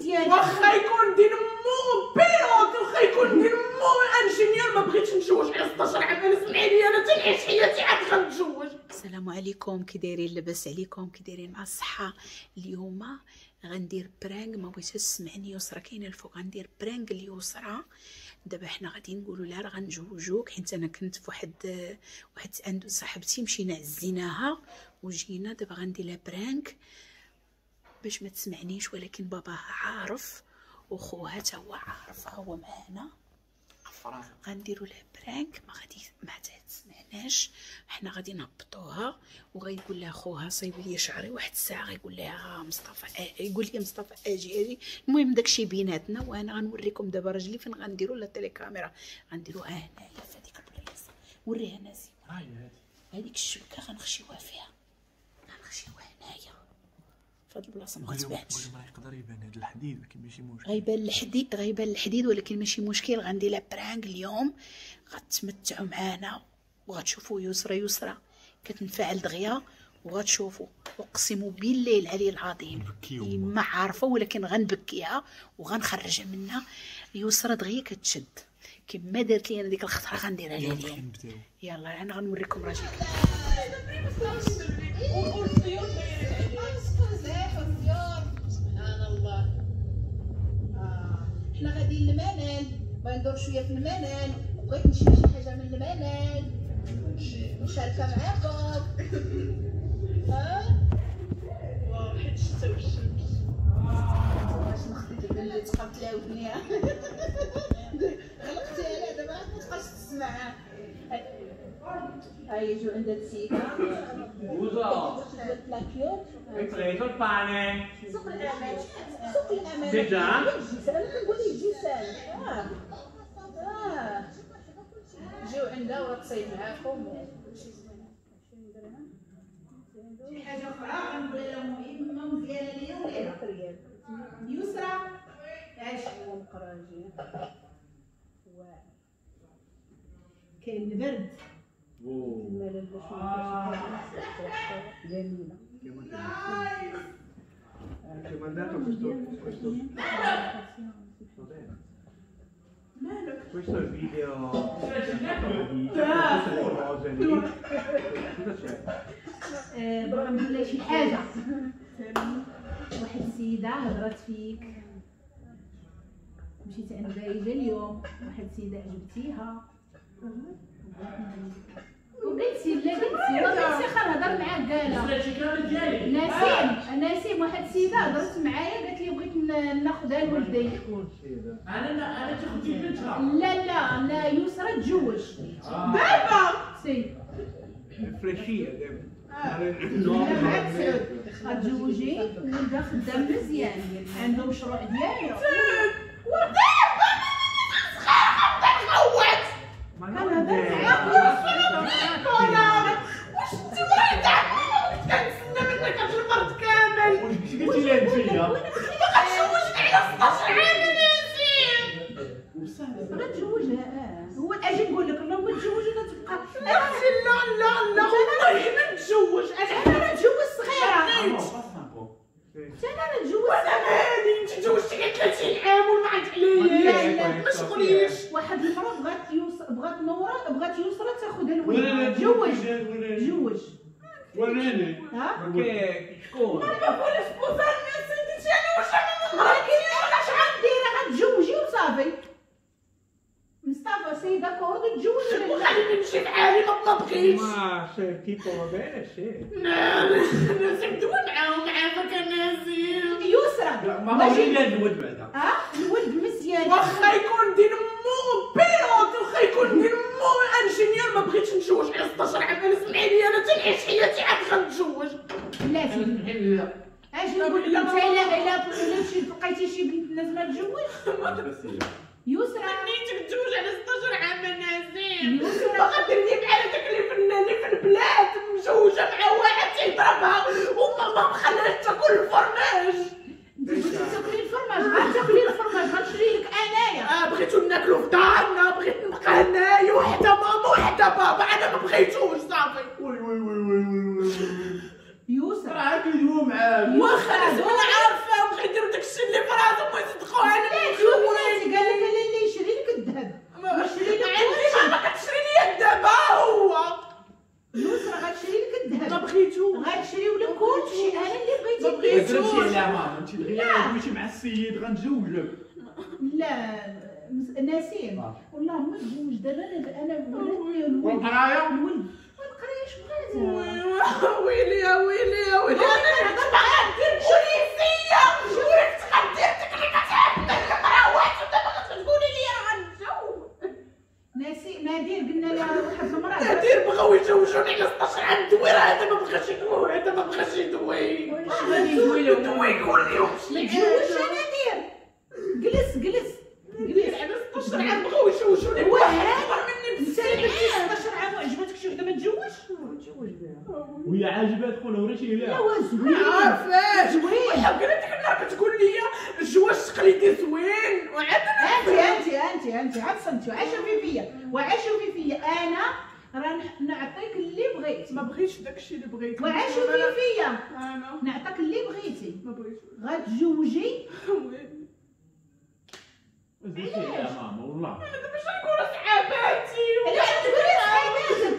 واخا يكون دين مو pilote، واخا يكون دين مو ingénieur، ما بغيتش نتزوج على 16 عام. انا سمعي لي، انا تنعيش حياتي عاد غنتزوج. السلام عليكم، كي دايرين؟ لاباس عليكم؟ كي دايرين مع الصحه؟ اليوم غندير prank، ما بغيتش تسمعني يسرا كاينه الفوق. غندير prank اليسرى. دابا حنا غادي نقولوا لها راه غنجوجوك، حيت انا كنت في واحد عند صاحبتي، مشينا عزيناها وجينا. دابا غندير لها prank باش ما تسمعنيش، ولكن باباها عارف وخوها حتى هو عارف، هو معانا. غنديروا لها prank، ما غادي ما تسمعناش. حنا غادي نهبطوها وغيقول لها خوها صايب لي شعري واحد الساعه، غيقول لها مصطفى يقول لي مصطفى اجي اجي. المهم داكشي بيناتنا، وانا غنوريكم دابا راجلي فين غنديروا la télécaméra. غنديروها هنايا في هذيك البلايصه، وريها ناسي هذيك الشبكة غنخشيوها فيها، غنخشيوها هنايا في هاد البلاصة ما غتبانش. يقدر يبان هاد الحديد ولكن ماشي مشكل، غيبان الحديد، غيبان الحديد ولكن ماشي مشكل. غندير لها prank اليوم، غتمتعوا معانا وغتشوفوا يسرى. يسرى كتنفعل دغيا وغتشوفوا، اقسم بالله العلي العظيم ما عارفه، ولكن غنبكيها وغنخرجها منها. يسرى دغيا كتشد كما دارت لي انا ديك الخطرة، غنديرها لها اليوم. يلا انا غنوريكم راجلي. سبحان الله. حنا غاديين للمنال، بغيت ندور شوية في المنال، وبغيت نشري شي حاجة من المنال نشاركها معاكم. ها واو، حيت الشتا والشمس. باش نخدي اللي تبقى تلاودني، غلقتيها لا دابا ما تبقاش تسمع. هاي جو عندها السيدة. Hai preso il pane. سوق الأمان، سوق الأمان. Sì già؟ أنا كنقول لك جيسان. جيو عندها وغتصايب معاكم وكلشي زوين. 20 درهم. شي حاجة أخرى غنقول لها مهمة ومزيانة ليا وليها. يسرى عاش مقراجي. كاين البرد. الملل باش جميلة. Ti ho mandato questo. Va bene. Questo è il video di tutte le cose lì. Cosa c'è? بغا نقول لها شي حاجة. واحد السيدة هضرات فيك، مشيت عند بايجة اليوم، واحد السيدة عجبتيها وقلتي لا قلتي وقلتي خا نهضر معاك. قالها نسيم، نسيم واحد السيدة هضرت معايا قالت لي بغيت ناخذها لولدي. شكون السيدة؟ انا تاخذي بنتها؟ لا لا لا، يسرى تزوج بابا سي فريشيه دابا. لا غتزوجي ولدها خدام مزيان، عنده مشروع ديالو. ودابا صغيرة غنبدا نغوت. كنهضر معاك. واش انت مريضه؟ كنت كنتسنى منك هاد المرض كامل. واش قلتي لها انت؟ غتزوجني على 16 عام نسيم. غتزوجها. هو اجي نقول لك اللهم تزوج ولا تبقى. لا لا لا لا، والله ما نتزوج. انا نتزوج صغيرة. انا نتزوج. وانا مالي؟ انت تزوجتي على 30 عام وما عندك عليا. لا لا ما شغليش. واحد المرة بغات نوره، بغات يسرى تاخذها الولد. تزوج تزوج. وريني ها شكون؟ ما بقولش بوزار الناس انت انا واش ولكن انا اش غندير؟ غتزوجي وصافي. مصطفى sei d'accordo تزوج ولا لا؟ وخليني نمشي بحالي، ما بغيتش. Ma se il tipo va bene, sì. نسيم دوي معاهم عافاك نسيم. يسرى ما وريني لها الولد بعدا. ها الولد مزيان، واخا يكون دين مو pilote، واخا يكون دين مو ingénieur، ما بغيتش نتزوج على 16 عام. انا سمعي لي، انا تنعيش حياتي عاد غنتزوج. بلاتي اجي نقول لك انت الا لقيتي شي بنت الناس ما تزوج. يسرى منيتك تزوج على 16 عام نسيم. يسرى باغا ديرني بحال هذاك اللي في البلاد مزوجه مع واحد تيضربها وماما مخليهاش تاكل الفرماج. انت بغيتي تاكلي الفرماج؟ غتاكلي الفرماج غنشري لك انايا. بغيتو ناكلو في دارنا، بغيت نبقى هنايا وحده ماما وحده بابا. انا ما بغيتوش صافي. oui oui oui oui oui. يسرى راه كيدويو معاك. واخا انا عارفه بغيت ندير داكشي اللي في راسهم. مع السيد غنتزوجك. لا نسيم والله ما تزوج دابا. انا ولدني الولد والقرايه الولد والقرايه اش بغاتها؟ ويلي يا ويلي يا ويلي، انا كنت باغا ندير بوليسيه وراك تغدير ديك اللي كتحب المراوات، ودابا غتقولي لي راه غنتزوج. ناسي نادر قلنا لها واحد المراة نادر بغاو يتزوجوني على 16 عام دوي، راه هذا ما بغاش يدوي، هذا ما بغاش يدوي. واش غادي يدوي له؟ دوي قول لهم ما تزوجش نادر. جلس جلس جلس على 16 عام بغاو يتزوجوني واحد اكبر مني انت درتي 16 عام وعجبتك شي وحده ما تزوجش؟ تزوج بها وهي عاجبها تكون وريتي لا ليها. هو زوين عارفاش زوين. وحق ديك النهار كتقول لي الجواز التقليدي زوين، وعاد انت انت انت انت عاد صمتي وعاشوا فيا وعاشوا فيا. انا راه نعطيك اللي بغيت. ما بغيتش داكشي اللي بغيت. وعاشوا فيا انا نعطيك اللي بغيتي. ما بغيتش. غتزوجي. زوجتي يا ماما والله. انا دابا شنقول صحاباتي؟ علاش تقولي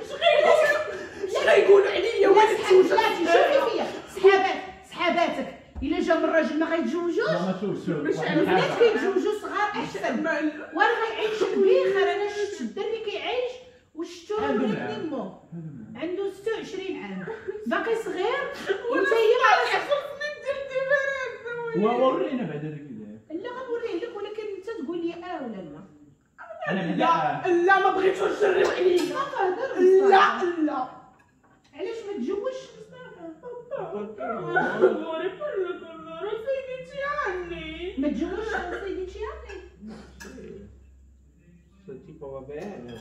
صحاباتك؟ اش غيقولوا عليا؟ ولا تزوجتي؟ شوفي فيا صحابات صحاباتك الا جا من الراجل ما غيتزوجوش. ما شوف شوف البنات كيتزوجوا صغار احسن، وانا غيعيش بخير. انا شفت الدري كيعيش وشفتو ولدني مو عنده 26 عام باقي صغير، وانت هي 10 سنين ديال différence. ورينا بعد هذاك. لا غنوريه لك، ولكن انت تقول لي اه ولا لا. انا لا لا ما بغيتوش تجريو عليا. لا لا علاش ما تزوجش؟ ما تزوجش سيدي عني. Tipo va bene.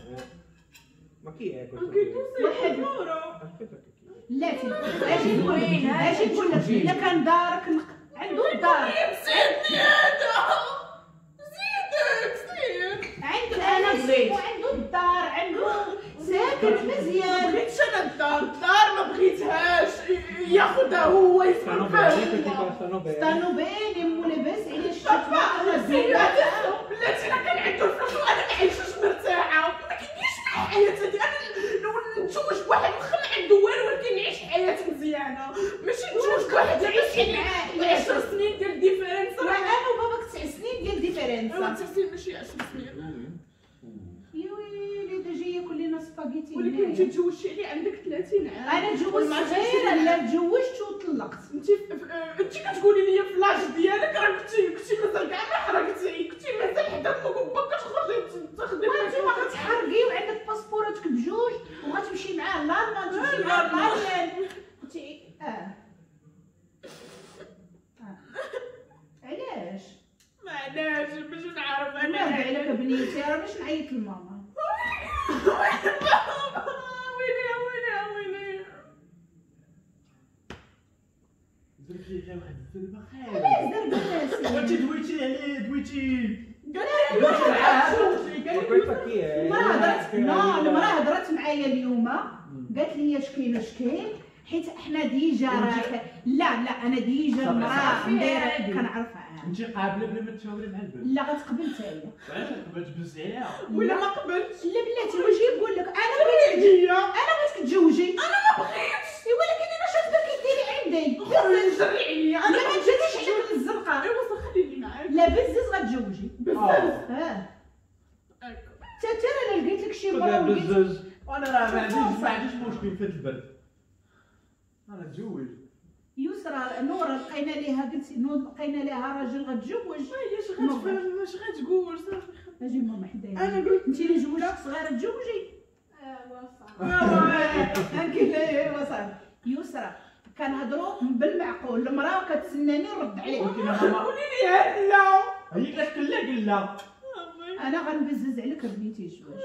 Ma chi è questo? Anche tu sei sicuro? Aspetta che chi è? لا اجي نقول لك، اجي نقول لك الا كان دارك عنده الدار. زيدني هذا زيدك زيد. عنده انا وعنده الدار، عنده ساكن مزيان. ما بغيتش انا الدار، الدار ما بغيتهاش ياخذها هو يسكن فيها. stanno bene مو لاباس عليه. بلاتي الا كان عنده الفلوس وانا ما عايشاش مرتاحة، ما كنديرش مع الحياة هادي. انا نتزوج بواحد واخا ما عنده والو ولكن نعيش حياة مزيانه، ماشي نتزوج بواحد يعيش 10 سنين ديال différence. انا وباباك 9 سنين ديال différence. 9 سنين ماشي 10 سنين. يا ويلي دا جاي ياكل لينا سباغيتي. ولكن انت تزوجتي عليه عندك 30 عام. انا تزوجت صغيرة. لا تزوجت وطلقت. انت كتقولي لي في l'âge ديالك راه كنتي مازال كاع ما حرقتي، كنتي مازال حدا امك وباك كتخرجي تاخدي. وانت ما غتحرقي وعندك باسبوراتك بجوج وغتمشي معاه لالمان، تمشي معاه لالمان. كنتي علاش؟ ما علاش باش نعرف انا. عليك بنيتي راه باش نعيط لماما. ويلي ويلي ويلي زربتي على واحد الزربه خايبة. علاش زربه؟ وانت دويتي عليه دويتي. المراة هضرت. لا المراة هضرت معايا اليوم قالت لي اش كاين اش كاين، حيت حنا déjà راه لا لا انا déjà المراة دايرة كنعرفها. انت قابله بلا ما تشاوري مع البنت؟ لا غتقبل حتى هي. وعلاش تقبل تبز عليها؟ ولا ما قبلتش؟ لا بلاتي واش نقول لك انا بغيت، انا بغيتك تتزوجي. انا ما بغيتش، ولكن انا شفتك كديري عندي. جري عليا انا. ما تجريش عليك للزنقه. ايوا صافي خليني معاك. لا بزز غتزوجي بزز. حتى انا لقيت لك شي مرة بزز. وانا راه ما عنديش مشكل في البرد، انا تزوج. يسرى نورا لقينا ليها، قلت لقينا ليها راجل غتزوج. هي اش غتفهم اش غتقول؟ صافي اجي ماما حدايا. انا قلت انت اللي جوجتك صغيرة تزوجي. ايوا صافي. انت ايوا صافي. يسرى كنهضروا بالمعقول، المراة كتسناني نرد عليها. ولكن ماما قولي لي لا. هي قالت لك لا لا. انا غنبزز عليك بنيتي الزواج.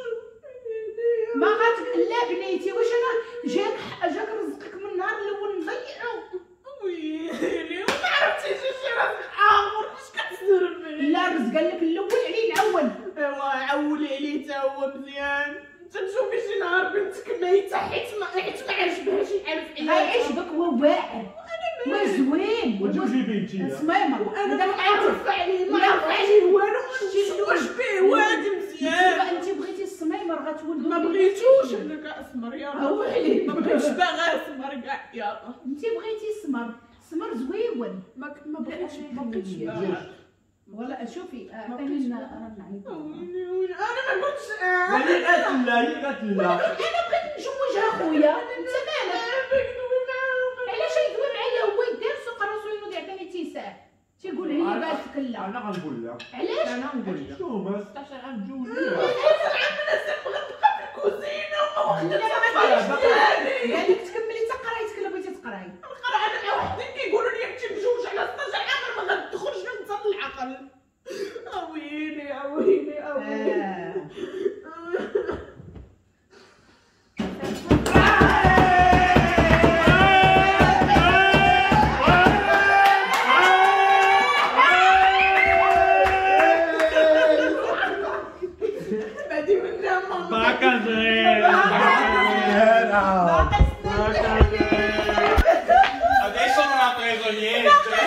ما غات لا بنيتي، واش انا جاك رزقك من النهار الاول نضيعو؟ ويلي وما عرفتيش شي رزق اخر اش كتزربي؟ لا الرزق قال لك الاول عليه نعول. ايوا عولي عليه تا هو مزيان. انت تشوفي شي نهار بنتك ميته حيت ما عجبهاش الحال في حياتها. غيعجبك هو واعر وزوين وتجوجي بنتي سميمه. وانا ما عارفه عليه، ما عارفه عليه والو، نتزوج به وادي مزيان. انت بغيتي السميمر غتولدو. ما بغيتوش انا كاع اسمر يا ربي. ما بغيتش باغا اسمر كاع يا رب. انت بغيتي السمر، السمر زويون. الاول. ما بغيتش ما بقيتش. ولا شوفي عطيني راه نعيط. انا ما قلتش هي قاتله، هي قاتله. انا بغيت نتزوجها خويا، انت مالك؟ علاش يدوي معايا هو؟ يدير سوق راسو ينوض يعطيني تيساع، تيقول هي قالت لك لا. انا غنقول لها. علاش؟ انا غنقول لها شنو هما 16 عام تزوجوها. 16 عام انا غنبقى في الكوزينة وما واخدة. قال لك تكملي حتى قرايتك الا بغيتي تقراي. نقرا انا وحدين كيقولوا لي انت مجوج على 16 عام ما غندخلش ننسى العقل. اويلي اويلي اويلي. Adesso non ha preso niente.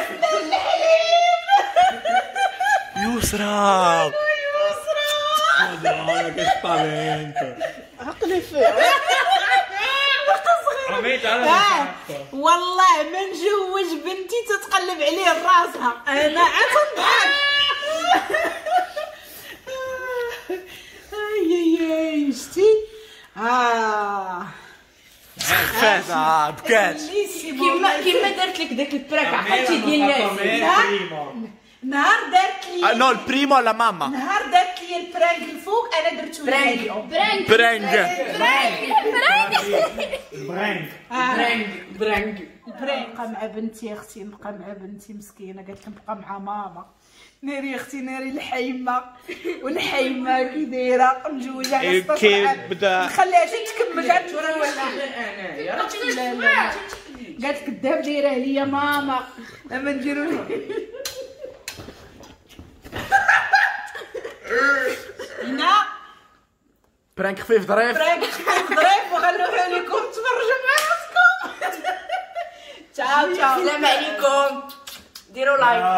Yusra! Yusra! Madonna, che spavento! عقلي فيه. والله ما نجوج بنتي تتقلب عليه راسها، انا عاد نضحك. اي اي شتي فازة بكات كيما دارت لك داك ال prank عقلتي ديال الناس نهار دارت لي no ال primo la mamma نهار دارت لي ال prank الفوق انا درتو prank prank prank prank prank prank prank. نبقى مع بنتي اختي، نبقى مع بنتي مسكينه قالت لك نبقى مع ماما. ناري اختي ناري الحيمه والحيمه كي دايرة مجوجه على 16 عام نخليها حتى تكمل عاد قالت لك الذهب دايرة ليا ماما اما نديرو هنا prank خفيف ظريف، prank خفيف ظريف وغنلوحو لكم تفرجوا مع راسكم. تشاو تشاو، السلام عليكم، ديروا like.